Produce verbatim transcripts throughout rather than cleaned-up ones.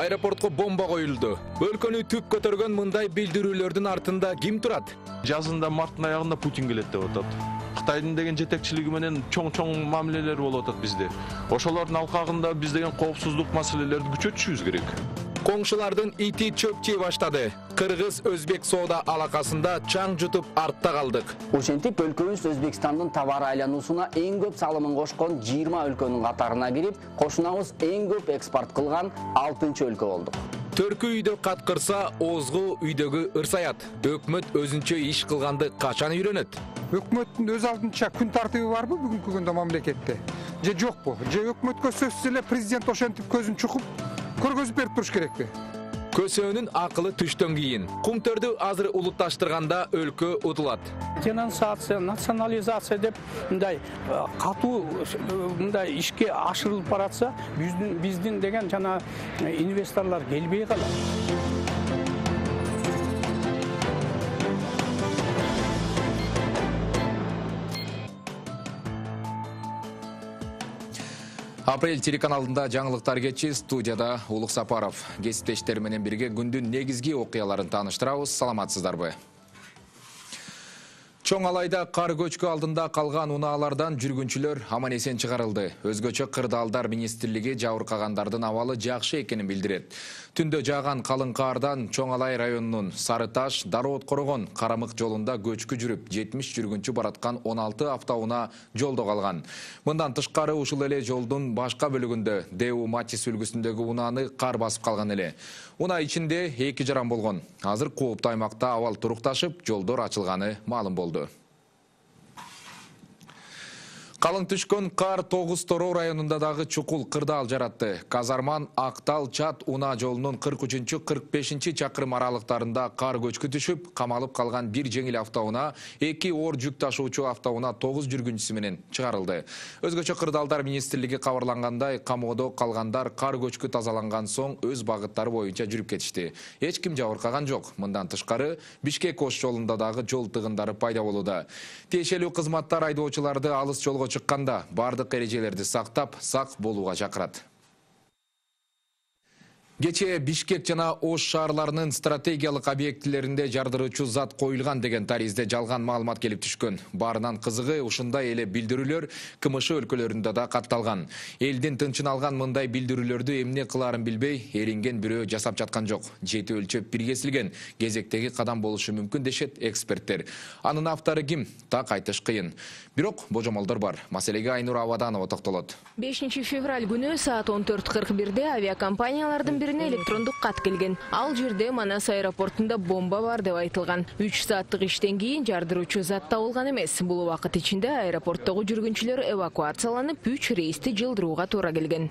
Аэропортко бомба коюлду. Өлкөнү түп көтөргөн мындай билдирүүлөрдүн артында ким турат? Жазында марттын аягында Путин келет деп атат. Кытайдын деген жетекчилиги менен чоң-чоң мамилелер болуп атат бизде. Ошолордун алкагында биз деген коопсуздук маселелерди күчөтүшүбүз керек. Коңшулардын ити чөп жей баштады. Кыргыз-Өзбек соода алакасында чаң жутуп артта калдык. Ошентип өлкөбүз Өзбекстандын товар айлануусуна эң көп салымын кошкон жыйырма өлкөнүн катарына кирип, кошунабыз эң көп экспорт кылган алтынчы өлкө болдук. Төркү үйдө каткырса, озгу үйдөгү ырсаят. Өкмөт өзүнчө иш кылганды качан үйрөнөт? Өкмөттүн өз алдынча күн тартыбы барбы бүгүнкү күндө мамлекетте? Же жокпу? Же өкмөткө сөзсүз эле президент ошентип көзүн чукуп көргөзүп берип туруш керекпи? Көсөөнүн акылы түштөн кийин. Кумтөрдү азыр улутташтырганда өлкө утулат. Денонсация, национализация деп мындай катуу мындай ишке ашырылып баратса, биздин биздин деген жана инвесторлор келбей калат. Апрель телеканалында жаңылыктар кечи, студияда Улук Сапаров. Кесиптештер менен бирге күндүн негизги окуяларын тааныштырабыз. Саламатсыздарбы? Чоң Алайда кар көчкү алдында калган унаалардан жүргүнчүлөр аман-эсен чыгарылды. Өзгөчө Кырдаалдар министрлиги жабыркагандардын абалы жакшы экенин билдирет. Түндө жааган калың кардан Чоң Алай районунун Сары Таш, Дароот Корогон, Карамык жолунда көчкү жүрүп, жетимиш жүргүнчү бараткан он алты автоунаа жолдо калган. Мындан тышкары ушул эле жолдун башка бөлүгүндө Дэу Матис үлгүсүндөгү унааны кар басып калган эле. Унаа ичинде эки жаран болгон. Азыр кооптуу аймакта абал турукташып, жолдор ачылганы маалым болду. Калың түшкөн кар Тогуз Тороо районунда дагы чукул кырдаал жаратты. Казарман Актал Чат унаа жолунун кырк үчүнчү кырк бешинчи чакырым аралыктарында кар көчкү түшүп, камалып калган бир жеңил автоунаа, эки оор жүк ташуучу автоунаа тогуз жүргүнчүсү менен чыгарылды. Өзгөчө Кырдаалдар министрлиги кабарлангандай, камоодо калгандар кар көчкү тазаланган соң өз багыттары боюнча жүрүп кетишти. Эч ким жабыркаган жок. Мындан тышкары Бишкек Ош жолунда дагы жол тыгындары пайда болууда. Тиешелүү кызматтар айдоочуларды алыс жолго чыкканда бардык эрежелерди сактап, сак болууга чакырат. Кечээ Бишкек жана Ош шаарларынын стратегиялык объектилеринде жардыруучу зат коюлган деген таризде жалган маалымат келип түшкөн. Баарынан кызыгы ушундай эле билдирүүлөр КМШ өлкөлөрүндө да катталган. Элдин тынчын алган мындай билдирүүлөрдү эмне кылаарын билбей, эринген бирөө жасап жаткан жок. Жети өлчөп бир кесилген, кезектеги кадам болушу мүмкүн дешет эксперттер. Анын автору ким? Так айтыш кыйын. Бирок божомолдор бар. Маселеге Айнур Абаданова токтолот. бешинчи февраль күнү саат он төрт кырк бирде авиакомпаниялардын бирине электрондук кат келген. Ал жерде Манас аэропортунда бомба бар деп айтылган. үч сааттык иштен кийин жардыруучу зат табылган эмес. Бул убакыт ичинде аэропорттогу жүргүнчүлөр эвакуацияланып, үч рейсти жылдырууга туура келген.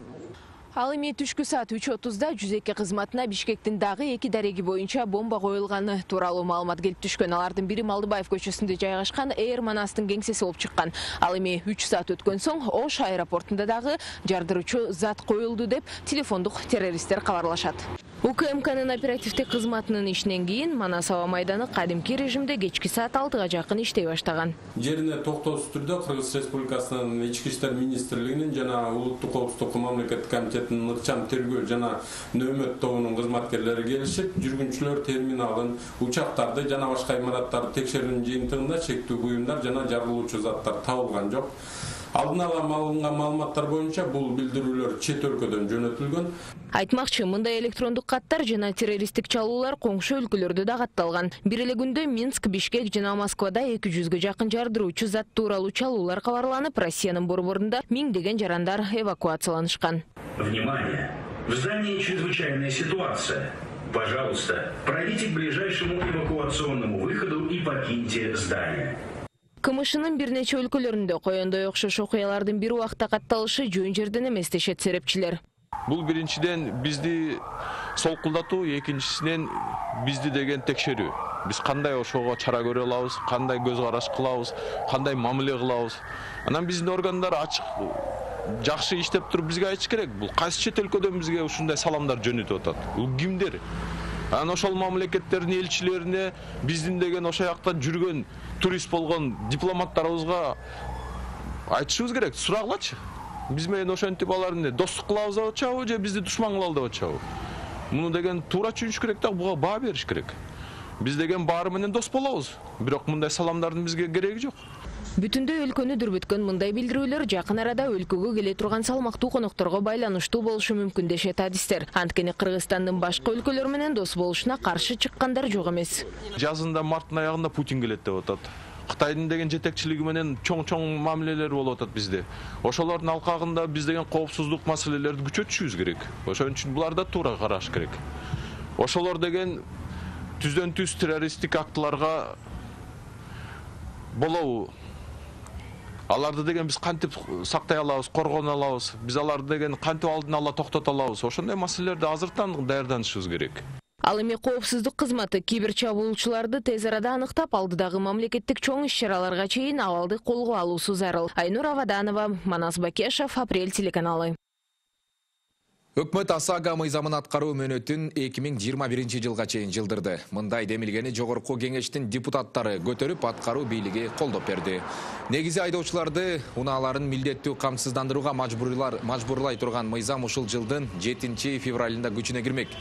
Ал эми түшкү саат үч отузда жүз эки кызматына Бишкектин дагы эки дареги боюнча бомба коюлганы тууралуу маалымат келип түшкөн. Алардын бири Малдыбаев көчөсүндө жайгашкан Эйр Манастын кеңсеси болуп чыккан. Ал эми үч саат өткөн соң Ош аэропортунда дагы жардыруучу зат коюлду деп телефондук террористтер кабарлашат. УКМКнын оперативдик кызматынын ишинен кийин Манас аба майданы кадимки режимде кечки саат алтыга жакын иштей баштаган. Жерине токтоосуз түрдө Кыргыз Республикасынын Ички иштер министрлигинин жана Улуттук коопсуздук мамлекеттик комитетинин ыкчам тергөө жана нөөмөт тобунун кызматкерлери келишип, жүргүнчүлөр терминалын, учактарды жана башка имараттарды текшерүүнүн жыйынтыгында чектүү буюмдар жана жарылуучу заттар табылган жок. Алдын ала алынган маалыматтар боюнча бул билдирүүлөр чет өлкөдөн жөнөтүлгөн. Айтмакчы, мындай электрондук каттар жана террористтик чалуулар коңшу өлкөлөрдө да катталган. Бир эле күндө Минск, Бишкек жана Москвада эки жүзгө жакын жардыруучу зат тууралуу чалуулар кабарланып, Россиянын борборунда миңдеген жарандар эвакуацияланышкан. Внимание! В здании чрезвычайная ситуация. Пожалуйста, пройдите к ближайшему эвакуационному выходу и покиньте здание. КМШнын бир нече өлкөлөрүндө коёндой окшош окуялардын бир убакта катталышы жөн жерден эмес дешет серепчилер. Бул биринчиден бизди солкулдатуу, экинчисинен бизди деген текшерүү. Биз кандай ошого чара көрө алабыз, кандай көз караш кылабыз, кандай мамиле кылабыз. Анан биздин органдар ачык жакшы иштеп туруп бизге айтыш керек. Бул кайсы чет өлкөдөн бизге ушундай саламдар жөнөтүп атат? Бул кимдер? Анан ошол мамлекеттердин элчилерине биздин деген ошол жакта жүргөн турист болгон дипломаттарыбызга айтышыбыз керек, сурагылачы. Биз менен ошентип алар эмне, достук кылабыз деп атышабы же бизди душман кылалы деп атышабы? Муну деген туура түшүнүш керек да, буга баа бериш керек. Биз деген баары менен дос болобуз. Бирок мындай саламдардын бизге кереги жок. Бүтүндөй өлкөнү дүрбүткөн мындай билдирүүлөр жакын арада өлкөгө келе турган салмактуу конокторго байланыштуу болушу мүмкүн дешет адистер. Анткени Кыргызстандын башка өлкөлөр менен дос болушуна каршы чыккандар жок эмес. Жазында марттын аягында Путин келет деп атат. Кытайдын деген жетекчилиги менен чоң-чоң мамилелер болуп атат бизде. Ошолордун алкагында биз деген коопсуздук маселелерди күчөтүшүбүз керек. Ошон үчүн буларда туура караш керек. Ошолор деген түздөн түз террористтик актыларга болобу? Аларды деген биз кантип сактай алабыз, коргоно алабыз? Биз аларды деген кантип алдын ала токтото алабыз? Ошондой маселелерди азыртан даярданышыбыз керек. Ал эми коопсуздук кызматы кибер чабуулчуларды тез арада аныктап, алдыдагы мамлекеттик чоң иш-чараларга чейин абалды колго алуусу зарыл. Айнур Аваданова, Манас Бакешев, Апрель телеканалы. Өкмөт ОСАГО мыйзамын аткаруу мөөнөтүн эки миң жыйырма биринчи жылга чейин жылдырды. Мындай демилгени жогорку кеңештин депутаттары көтөрүп аткаруу бийлиги колдоп берди. Негизи айдоочуларды унааларын милдеттүү камсыздандырууга мажбурлай турган мыйзам ушул жылдын жетинчи февралында күчүнө кирмек.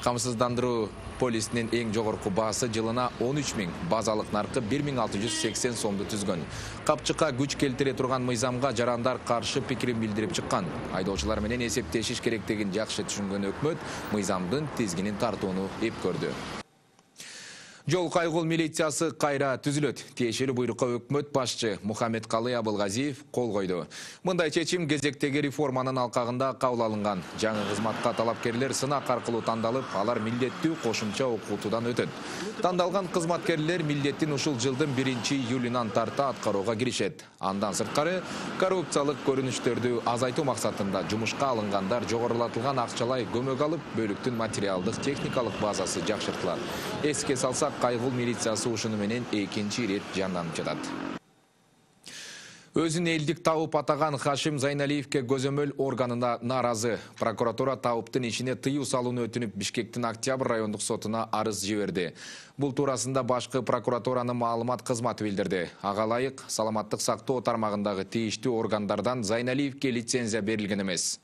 Камсыздандыруу полисинин эң жогорку баасы жылына он үч миң, базалык наркы бир миң алты жүз сексен сомду түзгөн. Капчыкка күч келтире турган мыйзамга жарандар каршы пикирин билдирип чыккан. Айдоочулар менен эсептешиш керектигин жакшы түшүнгөн өкмөт мыйзамдын тизгинин тартууну эп көрдү. Жол кайгыл милициясы кайра түзүлөт. Тиешелүү буйрукка өкмөт башчы Мухаммедкалый Абылгазиев кол койду. Мындай чечим кезектеги реформанын алкагында кабыл алынган. Жаңы кызматка талапкерлер сынак аркылуу тандалып, алар милдеттүү кошумча окутуудан өтөт. Тандалган кызматкерлер милдеттин ушул жылдын биринчи июлунан тарта аткарууга киришет. Андан сырткары, коррупциялык көрүнүштөрдү азайтуу максатында жумушка алынгандар жогорулатылган акчалай көмөк алып, бөлүктүн материалдык техникалык базасы жакшыртылат. Эске салсак, кайгыл милициясы ушуну менен экинчи ирет жанданып жатат. Өзүн элдик тауып атаган Хашим Зайналиевке көзөмөл органына нааразы. Прокуратура тауптын ишине тыюу салууну өтүнүп Бишкектин Октябрь райондук сотуна арыз жиберди. Бул туурасында башкы прокуратуранын маалымат кызматы билдирди. Ага ылайык саламаттык сактоо тармагындагы тийиштүү органдардан Зайналиевке лицензия берилген эмес.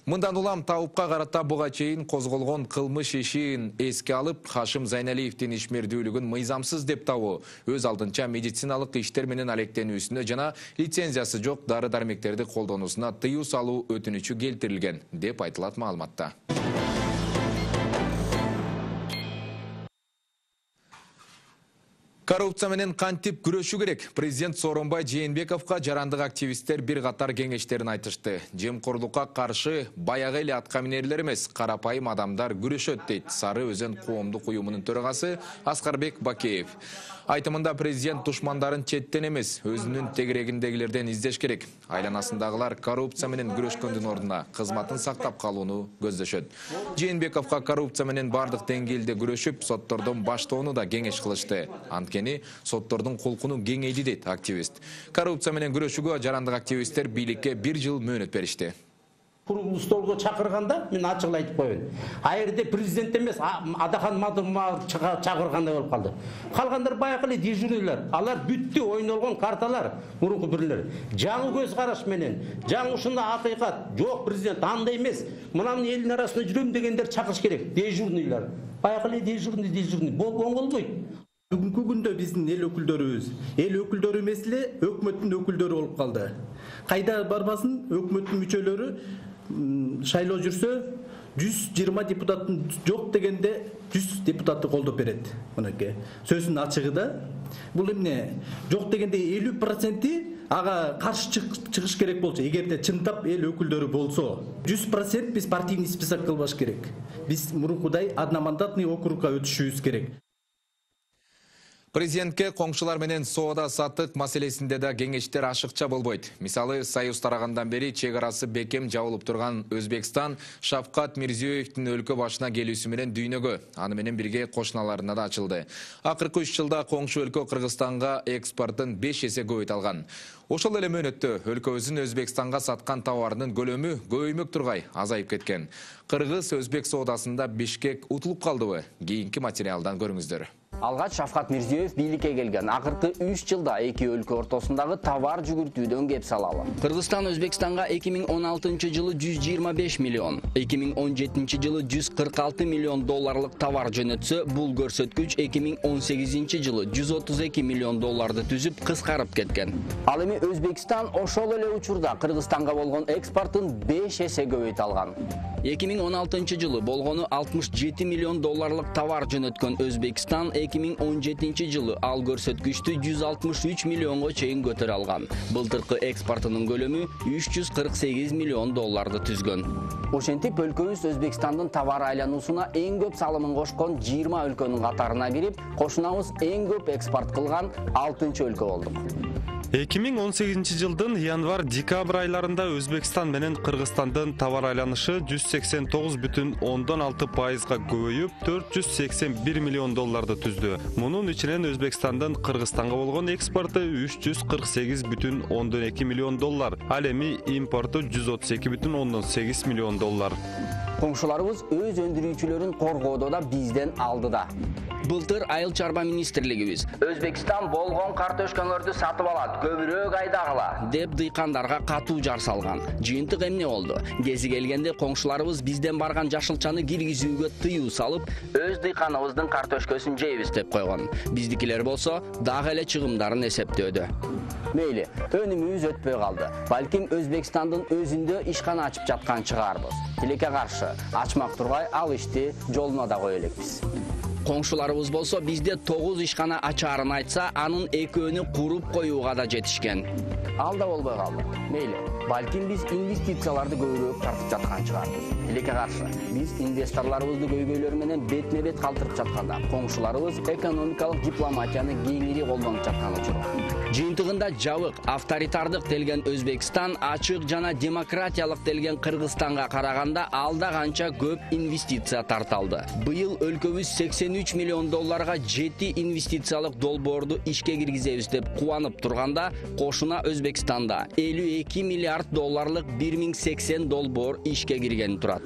Мындан улам таупка карата буга чейин козголгон кылмыш ишин эске алып, Хашим Зайналиевдин ишмердүүлүгүн мыйзамсыз деп табуу, өз алдынча медициналык иштер менен алектенүүсүнө жана лицензиясы жок дары-дармектерди колдонуусуна тыюу салуу өтүнүчү келтирилген, деп айтылат маалыматта. Коррупция менен кантип күрөшүү керек? Президент Сооронбай Жээнбековго жарандык активисттер бир катар кеңештерин айтышты. Жемкорлукка каршы баягы эле аткаминерлер эмес, карапайым адамдар күрөшөт, дейт Сары Өзен коомдук уюмунун төрагасы Аскарбек Бакеев. Айтымында президент душмандарын четтен эмес, өзүнүн тегерегиндегилерден издеш керек. Айланасындагылар коррупция менен күрөшкөндүн ордуна кызматын сактап калууну көздөшөт. Жээнбековго коррупция менен бардык деңгээлде күрөшүп, соттордон баштоону да кеңеш кылышты. Анткени соттордун кулкуну кеңейди, дейт активист. Коррупция менен күрөшүүгө жарандык активисттер бийликке бир жыл мөөнөт беришти. Куруктуу столго чакырганда мен ачык айтып коеюн. А жерде президент эмес, Адахан Мадымов чакыргандай болуп калды. Калгандар баягы эле дежурныйлар. Алар бүттү ойнолгон карталар, мурунку бирлер. Жаңы көз караш менен, жаңы ушундай акыйкат, жок президент андай эмес. Мынанын элдин арасында жүрөм дегендер чакырыш керек, дежурныйлар. Баягы эле дежурный, дежурный. Болбойт. Бүгүнкү күндө биздин эл өкүлдөрүбүз, эл өкүлдөрү эмес эле өкмөттүн өкүлдөрү болуп калды. Кайда барбасын өкмөттүн мүчөлөрү шайлоо жүрсө жүз жыйырма депутаттын жок дегенде жүз депутатты колдоп берет. Мынакей сөзүнүн ачыгы да. Бул эмне жок дегенде элүү проценти ага каршы чыгыш керек болчу. Эгерде чындап эл өкүлдөрү болсо, жүз процент биз партийный список кылбаш керек. Биз мурункудай одномандатный округга өтүшүбүз керек. Президентке коңшулар менен соода саттык маселесинде да кеңештер ашыкча болбойт. Мисалы, Союз тарагандан бери чек арасы бекем жабылып турган Өзбекстан Шавкат Мирзиёевдин өлкө башына келүүсү менен дүйнөгө, аны менен бирге кошуналарына да ачылды. Акыркы үч жылда коңшу өлкө Кыргызстанга экспортун беш эсе көбөйт алган. Ошол эле мөөнөттө өлкөбүздүн Өзбекстанга саткан товарынын көлөмү көбөймөк тургай азайып кеткен. Кыргыз-Өзбек соодасында Бишкек утулуп калдыбы? Кийинки материалдан көрүңүздөр. Алгач Шавкат Мирзиёев бийликке келген акыркы үч жылда эки өлкө ортосундагы товар жүгүртүүдөн кеп салалы. Кыргызстан Өзбекстанга эки миң он алтынчы жылы жүз жыйырма беш миллион, эки миң он жетинчи жылы жүз кырк алты миллион долларлык товар жөнөтсө, бул көрсөткүч эки миң он сегизинчи жылы жүз отуз эки миллион долларды түзүп кыскарып кеткен. Ал эми Өзбекстан ошол эле учурда Кыргызстанга болгон экспортун беш эсе көбөйтө алган. эки миң он алтынчы жылы болгону алтымыш жети миллион долларлык товар жөнөткөн Өзбекстан эки миң он жетинчи жылы ал көрсөткүчтү жүз алтымыш үч миллионго чейин көтөрө алган. Былтыркы экспортунун көлөмү үч жүз кырк сегиз миллион долларды түзгөн. Ошентип өлкөбүз Өзбекстандын товар айлануусуна эң көп салымын кошкон жыйырма өлкөнүн катарына кирип, кошунабыз эң көп экспорт кылган алтынчы өлкө болдук. эки миң он сегизинчи жылдын январь-декабрь айларында Өзбекстан менен Кыргызстандын товар айланышы жүз сексен тогуз бүтүн ондон алты пайызга көбөйүп, төрт жүз сексен бир миллион долларды түздү. Мунун ичинен Өзбекстандын Кыргызстанга болгон экспорту үч жүз кырк сегиз бүтүн ондон эки миллион доллар, ал эми импорту жүз отуз эки бүтүн ондон сегиз миллион доллар. Коңшуларыбыз өз өндүрүүчүлөрүн коргоодо да бизден алдыда. Былтыр Айыл чарба министрлигибиз Өзбекстан болгон картошкаңөрдү сатып алат, көбүрөөк айдагыла деп дыйкандарга катуу жар салган. Жыйынтык эмне болду? Кези келгенде коңшуларыбыз бизден барган жашылчаны киргизүүгө тыюу салып, өз дыйканыбыздын картошкөсүн жейбиз деп койгон. Биздикилер болсо дагы эле чыгымдарын эсептөөдө. Мейли, өнүмүбүз өтпөй калды. Балким Өзбекстандын өзүндө ишкана ачып жаткан чыгарбыз. Тилекке каршы ачмак тургай ал ишти жолуна да кое элекпиз. Коңшуларыбыз болсо бизде тогуз ишкана ачаарын айтса, анын экөөнү куруп коюуга да жетишкен. Ал да болбой калды. Мейли, балким биз инвестицияларды көбүрөөк тартып жаткан чыгарбыз. Тилекке каршы биз инвесторлорубузду көйгөйлөр менен бетме-бет калтырып жатканда, коңшуларыбыз экономикалык дипломатияны кеңири колдонуп жаткан учурда. Жыйынтыгында жабык, авторитардык делген Өзбекстан ачык жана демократиялык делген Кыргызстанга караганда алда канча көп инвестиция тарталды. Быйыл өлкөбүз сексен үч миллион долларга жети инвестициялык долбоорду ишке киргизебиз деп кубанып турганда, кошуна Өзбекстанда элүү эки миллиард долларлык бир миң сексен долбоор ишке киргени турат.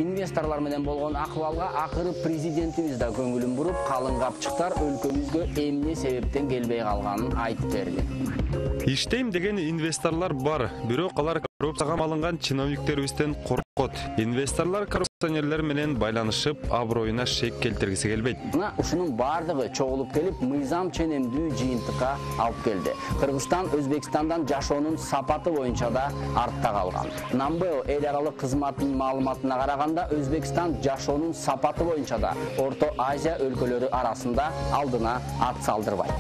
Инвесторлор менен болгон акыбалга акыры президентибиз да көңүлүн буруп, калың капчыктар өлкөбүзгө эмне себептен келбей калганын айтып берди. Иштейм деген инвесторлор бар, бирок алар коррупцияга малынган чиновниктерибизден коркот. Инвесторлор коррупционерлер менен байланышып, аброюна шек келтиргиси келбейт. Мына ушунун бардыгы чогулуп келип, мыйзам ченемдүү жыйынтыкка алып келди. Кыргызстан Өзбекстандан жашоонун сапаты боюнча да артта калган. Намбео эл аралык кызматынын маалыматына караганда, Өзбекстан жашоонун сапаты боюнча да Орто Азия өлкөлөрү арасында алдына ат салдырбайт.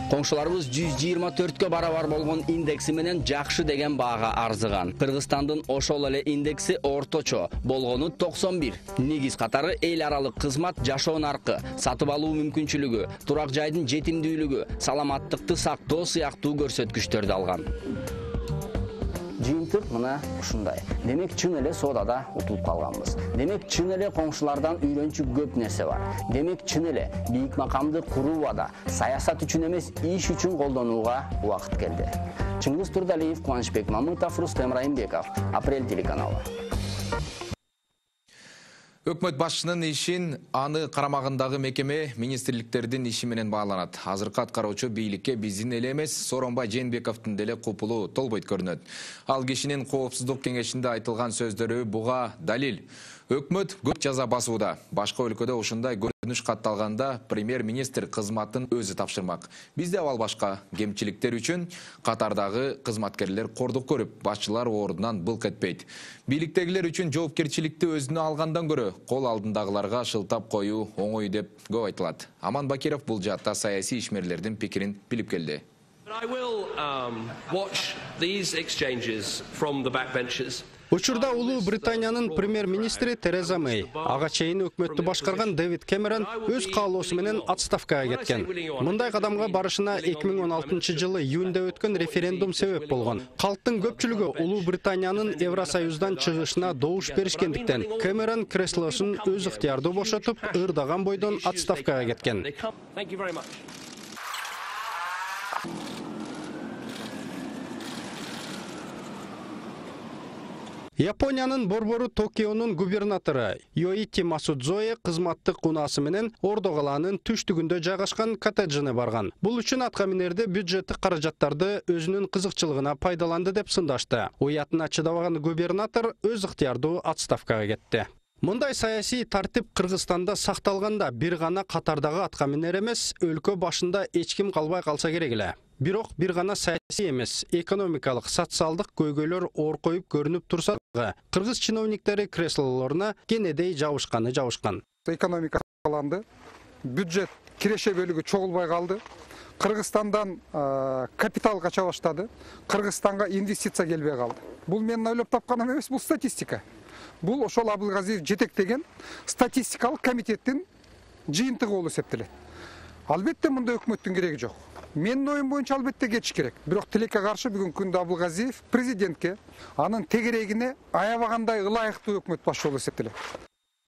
Коңшуларыбыз жүз жыйырма төрткө барабар болгон индекси менен жакшы деген баага арзыган. Кыргызстандын ошол эле индекси орточо болгону токсон бир. Негиз катары эл аралык кызмат, жашоо наркы, сатып алуу мүмкүнчүлүгү, турак жайдын жетимдүүлүгү, саламаттыкты сактоо сыяктуу көрсөткүчтөрдү алган. Жыйынтык мына ушундай. Демек чын эле соодада утулуп калганбыз. Демек чын эле коңшулардан үйрөнчү көп нерсе бар. Демек чын эле бийик макамды курууда, саясат үчүн эмес, иш үчүн колдонууга убакыт келди. Чыңгыз Турдалиев, Кубанычбек Мамытов, Рустем Райымбеков, Апрель телеканалы. Өкмөт башчынын ишин аны карамагындагы мекеме министрликтердин иши менен бааланат. Азыркы аткаруучу бийликке биздин эле эмес, Сооронбай Жээнбековдун деле купулу толбойт көрүнөт. Ал кишинин коопсуздук кеңешинде айтылган сөздөрү буга далил. Өкмөт көп жаза басууда. Башка өлкөдө ушундай көрүнүш катталганда премьер-министр кызматын өзү тапшырмак. Бизде абал башка. Кемчиликтер үчүн катардагы кызматкерлер кордук көрүп, башчылар ордунан былк этпейт. Бийликтегилер үчүн жоопкерчиликти өзүнө алгандан көрө кол алдындагыларга шылтап коюу оңой деп көп айтылат. Аман Бакиров бул жаатта саясий ишмерлердин пикирин билип келди. Учурда Улуу Британиянын премьер-министри Тереза Мэй, ага чейин өкмөттү башкарган Дэвид Кэмерон өз каалоосу менен отставкага кеткен. Мындай кадамга барышына эки миң он алтынчы жылы июнда өткөн референдум себеп болгон. Калктын көпчүлүгү Улуу Британиянын Евросоюздан чыгышына добуш беришкендиктен Кэмерон креслосун өз ыктыярдуу бошотуп, ырдаган бойдон отставкага кеткен. Япониянын борбору Токионун губернатору Йоити Масудзое кызматтык унаасы менен Ордо калаанын түштүгүндө жайгашкан коттеджине барган. Бул үчүн атка минерде бюджеттик каражаттарды өзүнүн кызыкчылыгына пайдаланды деп сындашты. Уятына чыдабаган губернатор өз ыктыярдуу отставкага кетти. Мындай саясий тартип Кыргызстанда сакталганда бир гана катардагы атка минер эмес, өлкө башында эч ким калбай калса керек эле. Бирок бир гана саясий эмес, экономикалык, социалдык көйгөйлөр оркоюп көрүнүп турса дагы, кыргыз чиновниктери креслолоруна кенедей жабышканы жабышкан. Экономика сакталанды, бюджет киреше бөлүгү чогулбай калды. Кыргызстандан капитал кача баштады, Кыргызстанга инвестиция келбей калды. Бул менин ойлоп тапканым эмес, бул статистика. Бул ошол Абылгазиев жетектеген статистикалык комитеттин жыйынтыгы болуп эсептелет. Албетте мында өкмөттүн кереги жок. Менин оюм боюнча албетте кетиш керек. Бирок тилекке каршы бүгүнкү күндө Абылгазиев президентке анын тегерегине аябагандай ылайыктуу өкмөт башчы болуп эсептелет.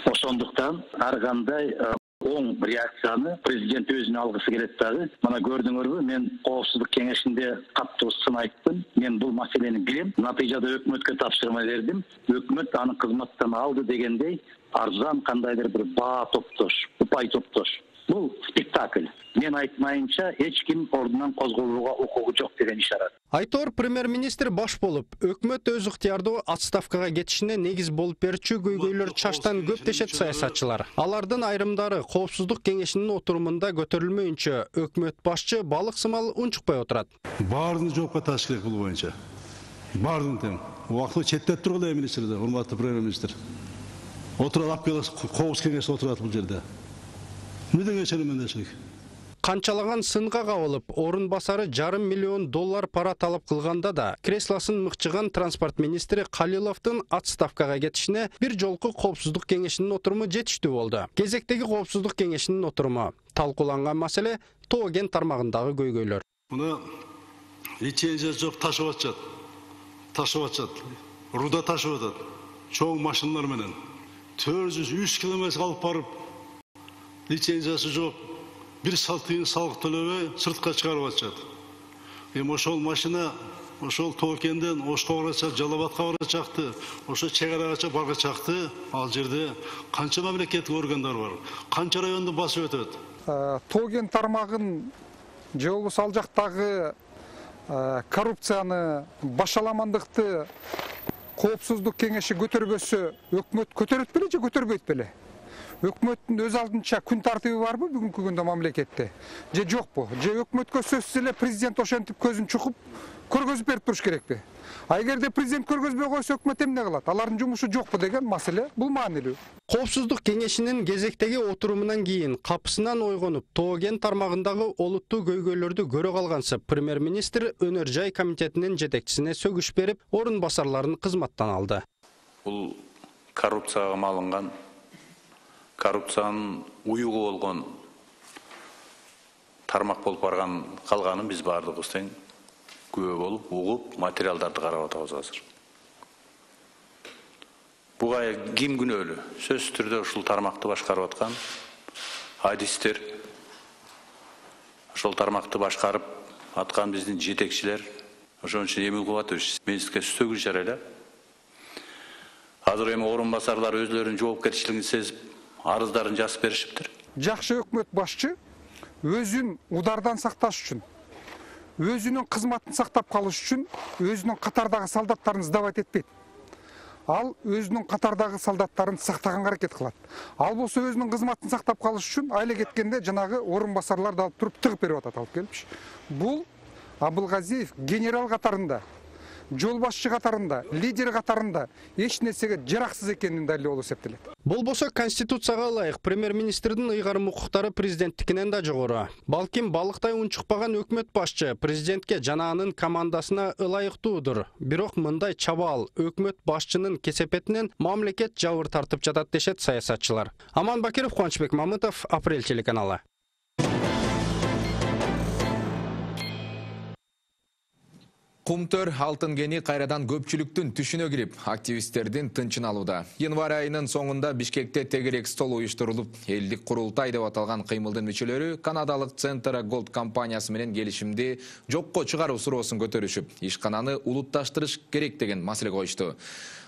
Ошондуктан ар кандай оң реакцияны президент өзүнө алгысы келет дагы. Мына көрдүңөрбү, мен коопсуздук кеңешинде каттуу сын айттым. Мен бул маселени билем. Натыйжада өкмөткө тапшырма бердим. Өкмөт аны кызматтан алды дегендей арзан кандайдыр бир баа топтош, упай топтош. Бул спектакль. Мен айтмайынча эч ким ордунан козголууга укугу жок деген ишарат. Айтор премьер-министр баш болуп, өкмөт өз ыктыярдуу отставкага кетишине негиз болуп берчү көйгөйлөр чаштан көп дешет саясатчылар. Алардын айрымдары коопсуздук кеңешинин отурумунда көтөрүлмөйүнчө өкмөт башчы балык сымал унчукпай отурат. Баарын жоопко тартыш керек бул боюнча. Баарын тең. Убактылуу четтеп тургула министрде, урматтуу премьер-министр. Отурат алып келип коопсуз кеңеште отурат бул жерде. Мүдөн кечиримдешик. Канчалаган сынга кабылып, орун басары жарым миллион доллар пара талап кылганда да, креслосын мыкчыган транспорт министри Калиловдун отставкага кетишине бир жолку коопсуздук кеңешинин отуруму жетиштүү болду. Кезектеги коопсуздук кеңешинин отуруму талкууланган маселе тоо кен тармагындагы көйгөйлөр. Муну лицензия жок ташып атышат. Ташып атышат. Руда ташып атат. Чоң машиналар менен төрт жүз үч километр алып барып, лицензиясы жок, бир салтыйын салык төлөбөй сыртка чыгарып атышат. Эми ошол машина ошол Тоокенден Ошко барачак, Жалал-Абадка барачакты, ошо чек арагача баргачакты. Ал жерде канча мамлекеттик органдар бар, канча районду басып өтөт. Тоокен тармагын же болбосо ал жактагы коррупцияны, башаламандыкты коопсуздук кеңеши көтөрбөсө, өкмөт көтөрөт беле же көтөрбөйт беле? Өкмөттүн өз алдынча күн тартыбы барбы бүгүнкү күндө мамлекетте? Же жокпу? Же өкмөткө сөзсүз эле президент ошентип көзүн чукуп көргөзүп берип туруш керекпи? А эгерде президент көргөзбөй койсо өкмөт эмне кылат? Алардын жумушу жокпу деген маселе бул маанилүү. Коопсуздук кеңешинин кезектеги отурумунан кийин капысынан ойгонуп, тоо кен тармагындагы олуттуу көйгөйлөрдү көрө калгансып, премьер-министр Өнөр жай комитетинин жетекчисине сөгүш берип, орун басарларын кызматтан алды. Бул коррупцияга малынган, коррупциянын уюгу болгон тармак болуп барган калганын биз баардыгыбыз тең күбө болуп, угуп, материалдарды карап атабыз азыр. Буга ким күнөөлүү? Сөзсүз түрдө ушул тармакты башкарып аткан адистер, ошол тармакты башкарып аткан биздин жетекчилер, ошон үчүн Эмил Кубатович министрге сөгүш жарыйлап, азыр эми орун басарлар өзлөрүнүн жоопкерчилигин сезип, арыздарын жазып беришиптир. Жакшы өкмөт башчы өзүн удардан сакташ үчүн, өзүнүн кызматын сактап калыш үчүн өзүнүн катардагы солдаттарын сдавать этпейт. Ал өзүнүн катардагы солдаттарын сактаганга аракет кылат. Ал болсо өзүнүн кызматын сактап калыш үчүн айла кеткенде жанагы орун басарларды алып туруп тыгып берип атат, алып келипчи. Бул Абылгазиев генерал катарында, жол башчы катарында, лидер катарында эч нерсеге жараксыз экенин далилдөө болуп эсептелет. Болбосо конституцияга ылайык премьер-министрдин ыйгарым укуктары президенттикинен да жогору. Балким балыктай унчукпаган өкмөт башчы президентке жана анын командасына ылайыктуудур. Бирок мындай чабаал өкмөт башчынын кесепетинен мамлекет жабыр тартып жатат дешет саясатчылар. Аман Бакиров, Кубанычбек Мамытов, Апрель телеканалы. Кумтөр алтын кени кайрадан көпчүлүктүн түшүнө кирип, активисттердин тынчын алууда. Январь айынын соңунда Бишкекте тегерек стол уюштурулуп, элдик курултай деп аталган кыймылдын мүчөлөрү канадалык Центра Голд компаниясы менен келишимди жокко чыгаруу суроосун көтөрүшүп, ишкананы улутташтырыш керек деген маселе коюшту.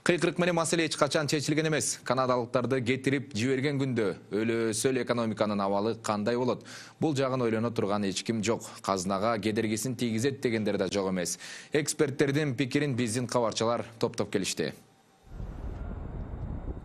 Кыйкырык менен маселе эч качан чечилген эмес. Канадалыктарды кетирип жиберген күндө өлөсөл экономиканын абалы кандай болот? Бул жагын ойлоно турган эч ким жок. Казынага кедергисин тийгизет дегендер да жок эмес. Эксперттердин пикирин биздин кабарчылар топтоп келишти.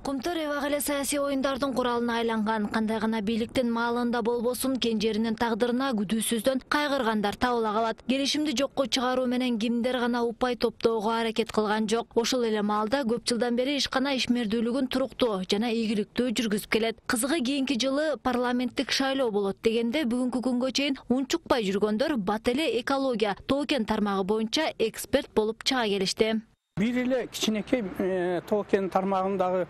Кумтөр эбак эле саясий оюндардын куралына айланган, кандай гана бийликтин маалында болбосун кенжеринин тагдырына күдүүсүздөн кайгыргандар табыла калат. Келишимди жокко чыгаруу менен кимдер гана упай топтоого аракет кылган жок. Ошол эле маалда көп жылдан бери ишкана ишмердүүлүгүн туруктуу жана ийгиликтүү жүргүзүп келет. Кызыгы кийинки жылы парламенттик шайлоо болот дегенде бүгүнкү күнгө чейин унчукпай жүргөндөр бат эле экология, токен тармагы боюнча эксперт болуп чыга келишти. Бир эле кичинекей токен тармагындагы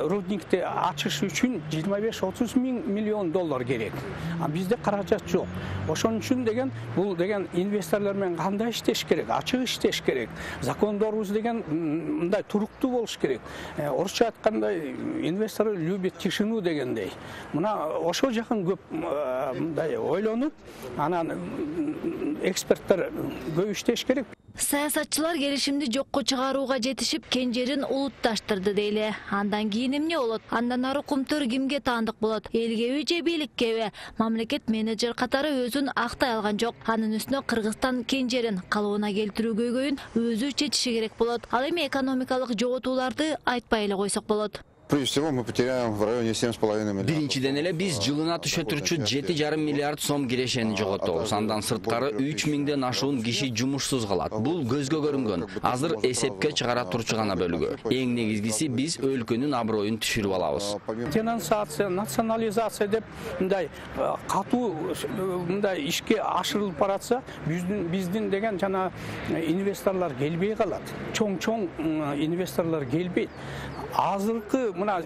рудникти ачыш үчүн жыйырма беш отуз миң миллион доллар керек. А бизде каражат жок. Ошон үчүн деген бул деген инвесторлор менен кандай иштеш керек, ачык иштеш керек. Закондорубуз деген мындай туруктуу болуш керек. Орусча айтканда инвестор любит тишину дегендей. Мына ошол жакын көп мындай ойлонуп, анан эксперттер көп иштеш керек. Саясатчылар келишимди жокко чыгарууга жетишип, кенжерин улутташтырды дейле. Андан кийин эмне болот? Андан ары Кумтөр кимге таандык болот? Элгеби же бийликкеби? Мамлекет менеджер катары өзүн актай алган жок. Анын үстүнө Кыргызстан кенжерин калыбына келтирүү көйгөйүн өзү чечиши керек болот. Ал эми экономикалык жоготууларды айтпай эле койсок болот. Прежде всего мы потеряем в районе семь с половиной миллиардов. Биринчиден эле биз жылына түшө турчу жети жарым миллиард сом кирешени жоготобуз. Андан сырткары үч миңден ашуун киши жумушсуз калат. Бул көзгө көрүнгөн. Азыр эсепке чыгара турчу гана бөлүгү. Эң негизгиси биз өлкөнүн аброюн түшүрүп алабыз. Денонсация, национализация деп мындай катуу мындай ишке ашырылып баратса, биздин биздин деген жана инвесторлор келбей калат. Чоң-чоң инвесторлор келбейт. Азыркы мына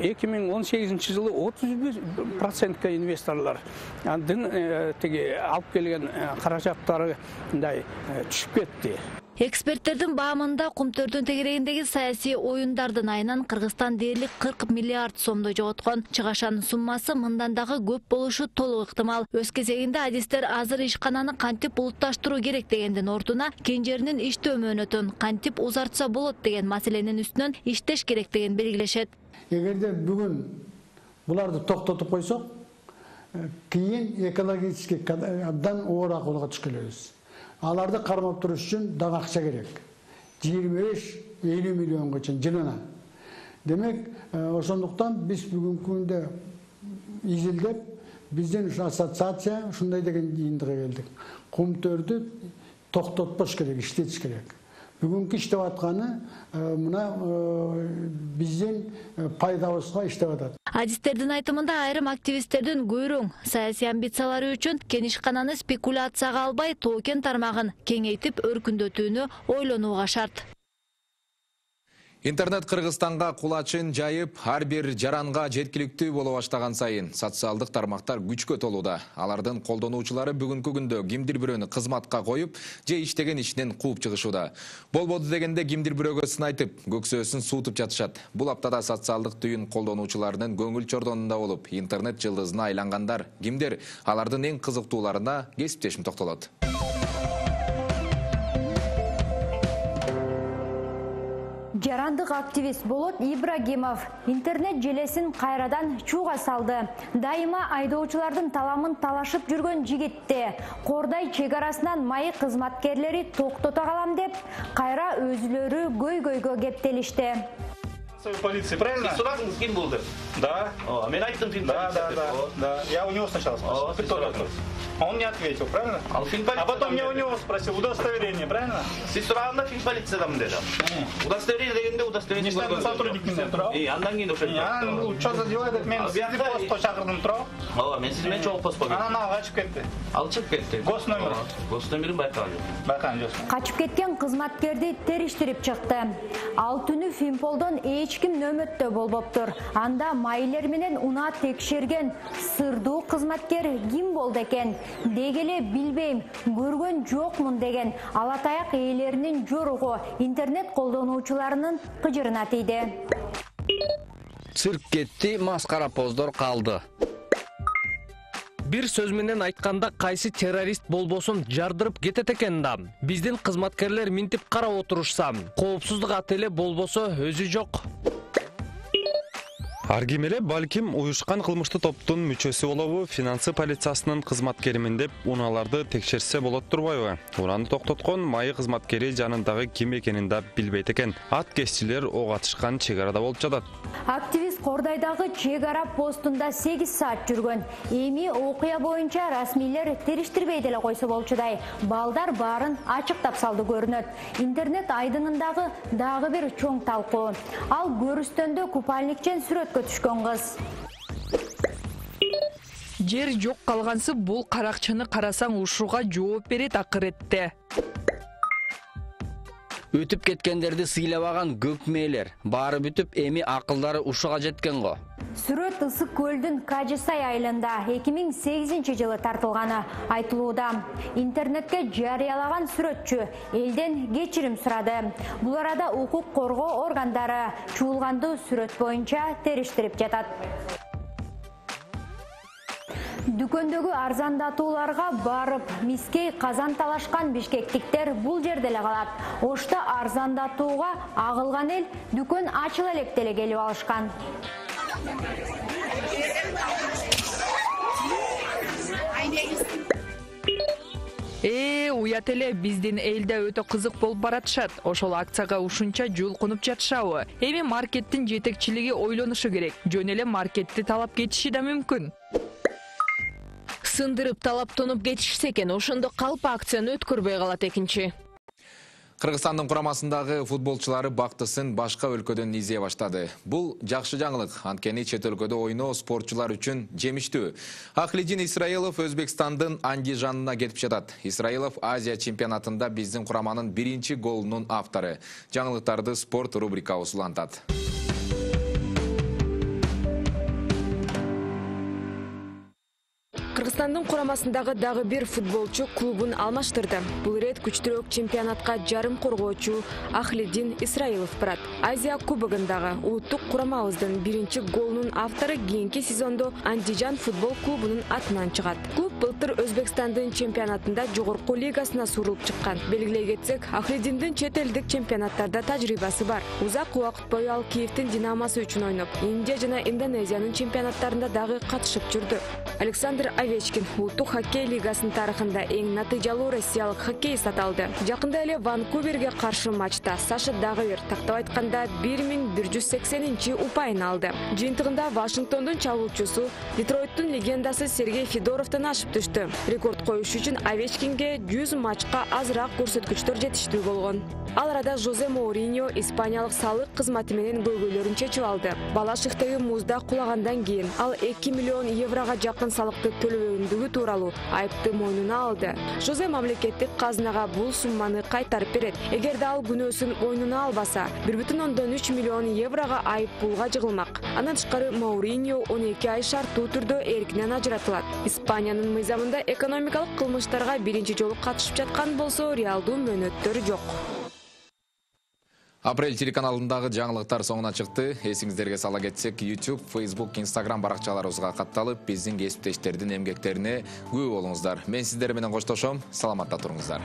эки миң он сегизинчи жылы отуз бир процентке инвесторлор андын теги алып келген каражаттары мындай түшүп кетти. Эксперттердин баамында Кумтөрдүн тегерегиндеги саясий оюндардын айынан Кыргызстан дээрлик кырк миллиард сомдо жоготкон. Чыгашанын суммасы мындан дагы көп болушу толук ыктымал. Өз кезегинде адистер азыр ишкананы кантип улутташтыруу керек дегендин ордуна кенжеринин иштөө мөөнөтүн кантип узартса болот деген маселенин үстүнөн иштеш керектигин белгилешет. Эгерде бүгүн буларды токтотуп койсок, кийин экологически абдан оор акыбалга түшүп келебиз. Аларды кармап туруш үчүн дагы акча керек. жыйырма беш элүү миллионго чейин жылына. Демек, ошондуктан биз бүгүнкү күндө изилдеп, биздин ассоциация ушундай деген жыйынтыгы келдик. Кумтөрдү токтотпош керек, иштетиш керек. Бүгүнкү иштеп атканы мына биздин пайдабызга иштеп атат. Адистердин айтымында айрым активисттердин көйрөң саясий амбициялары үчүн кенишкананы спекуляцияга албай токен тармагын кеңейтип өркүндөтүүнү ойлонууга шарт. Интернет Кыргызстанга кулачын жайып, ар бир жаранга жеткиликтүү боло баштаган сайын социалдык тармактар күчкө толууда. Алардын колдонуучулары бүгүнкү күндө кимдир бирөөнү кызматка коюп, же иштеген ишинен кууп чыгышууда. Болбоду дегенде кимдир бирөөгө сын айтып, көксөөсүн суутуп жатышат. Бул аптада социалдык түйүн колдонуучуларынын көңүл чордонунда болуп, интернет жылдызына айлангандар кимдер? Алардын эң кызыктууларына кесиптешим токтолот. Жарандык активист Болот Ибрагимов интернет желесин кайрадан чууга салды. Дайыма айдоочулардын таламын талашып жүргөн жигитти Кордай чек арасынан майы кызматкерлери токтото калам деп, кайра өзүлөрү көйгөйгө кептелишти. Полиции, правильно? Ты сюда с кем был? Да. О, меня айтым фильм. Да, да, да, да. Я у него сначала спросил. Он не ответил, правильно? А, а потом я у него спросил удостоверение, правильно? Siz sorağında film полициядан dedi. Удостоверение дегенде удостоверение. Не штатный сотрудник менен турабы? И андан кийин ошо. Ну, что за дела этот мен сизди постко чакырдым турабы? Ооба, мен сиз менен чогуу постко келдим. Анан ал качып кетти. Ал чыгып кетти. Гос номер. Гос номерин байкаган жок. Байкаган жок. Качып кеткен кызматкерди териштирип чыкты. Ал түнү Фимполдон эч ким нөмөттө болбоптур. Анда майылер менен унаа текшерген сырдуу кызматкер ким болду экен? Дегеле билбейм, көргөн жокмун деген алатаяк ээлеринин жоругу интернет колдонуучуларынын кыжырына тийди. Цирк кетти, маскара поздор калды. Бир сөз менен айтканда кайсы террорист болбосун жардырып кетет экен да. Биздин кызматкерлер минтип карап отурушса, коопсуздук отели болбосо өзү жок. Ар ким эле балким уюшкан кылмыштуу топтун мүчөсү болобу, финансы полициясынын кызматкеримин деп унааларды текшерсе болот турбайбы? Унаны токтоткон майы кызматкери жанындагы ким экенин да билбейт экен. Ат кесчилер ок атышкан чек арада болуп жатат. Активист Кордайдагы чек ара постунда сегиз саат жүргөн. Эми окуя боюнча расмийлер териштирбей деле койсо болчудай. Балдар баарын ачыктап салды көрүнөт. Интернет айдыңындагы дагы бир чоң талкуу. Ал көрүстөндө купальникчен сүрөткө түшкөн кыз. Жер жок калгансып, бул каракчаны карасаң ушуга жооп берет акыретте. Өтүп кеткендерди сыйлабаган көп мээлер. Баары бүтүп, эми акылдары ушуга жеткен го. Сүрөт Ысык көлдүн Кажысай айылында эки миң сегизинчи жылы тартылганы айтылууда. Интернетке жарыялаган сүрөтчү элден кечирим сурады. Бул арада укук коргоо органдары чуулганды сүрөт боюнча териштирип жатат. Дүкөндөгү арзандатууларга барып, мискей казан талашкан бишкектиктер бул жерде эле калат. Ошто арзандатууга агылган эл дүкөн ачыла элек деле келип алышкан. Э, уят эле, биздин элде өтө кызык болуп баратышат. Ошол акцияга ушунча жулкунуп жатышабы? Эми маркеттин жетекчилиги ойлонушу керек. Жөн эле маркетти талап кетиши да мүмкүн. Сындырып талаптонуп кетишсе экен, ошондо калп акцияны өткөрбөй калат экинчи. Кыргызстандын курамасындагы футболчулары бактысын башка өлкөдөн изее баштады. Бул жакшы жаңылык, анткени чет өлкөдө ойноо спортчулар үчүн жемиштүү. Ахлидин Исраилов Өзбекстандын Андижанына кетип жатат. Исраилов Азия чемпионатында биздин кураманын биринчи голунун автору. Жаңылыктарды спорт рубрикабыз улантат. Кыргызстандын курамасындагы дагы бир футболчу клубун алмаштырды. Бул ирет күчтүүрөөк чемпионатка жарым коргоочу Ахлидин Исраилов барат. Азия кубогундагы улуттук курамабыздын биринчи голунун автору кийинки сезондо Андижан футбол клубунун атынан чыгат. Клуб былтыр Өзбекстандын чемпионатында жогорку лигасына сурулуп чыккан. Белгилей кетсек, Ахлидиндин чет элдик чемпионаттарда тажрыйбасы бар. Узак убакыт бою ал Киевдин Динамосы үчүн ойноп, Индия жана Индонезиянын чемпионаттарында дагы катышып жүрдү. Александр Овечкин улуттук хоккей лигасынын тарыхында эң натыйжалуу россиялык хоккейист аталды. Жакында эле Ванкуверге каршы матчта Саша дагы бир тактап айтканда бир миң бир жүз сексенинчи упайын алды. Жыйынтыгында Вашингтондун чабуучусу, Детройттун легендасы Сергей Федоровдон ашып түштү. Рекорд коюш үчүн Овечкинге жүз матчка азыраак көрсөткүчтөр жетиштүү болгон. Ал арада Жозе Моуриньо испаниялык салык кызматы менен көйгөйлөрүн чечип алды. Балашыктагы музда кулагандан кийин ал эки миллион еврого жакын салыкты төлөбөгөндүгү тууралуу айыпты мойнуна алды. Жозе мамлекеттик казынага бул сумманы кайтарып берет. Эгерде ал күнөөсүн мойнуна албаса, бир бүтүн ондон үч миллион еврого айып пулга жыгылмак. Андан тышкары Моуриньо он эки ай шарттуу түрдө эркинен ажыратылат. Испаниянын мыйзамында экономикалык кылмыштарга биринчи жолу катышып жаткан болсо, реалдуу мөөнөттөр жок. Апрель телеканалындагы жаңылыктар соңуна чыкты. Эсиңиздерге сала кетсек, YouTube, Facebook, Instagram баракчаларыбызга катталып, биздин кесиптештердин эмгектерине күбө болуңуздар. Мен сиздер менен коштошом. Саламатта туруңуздар.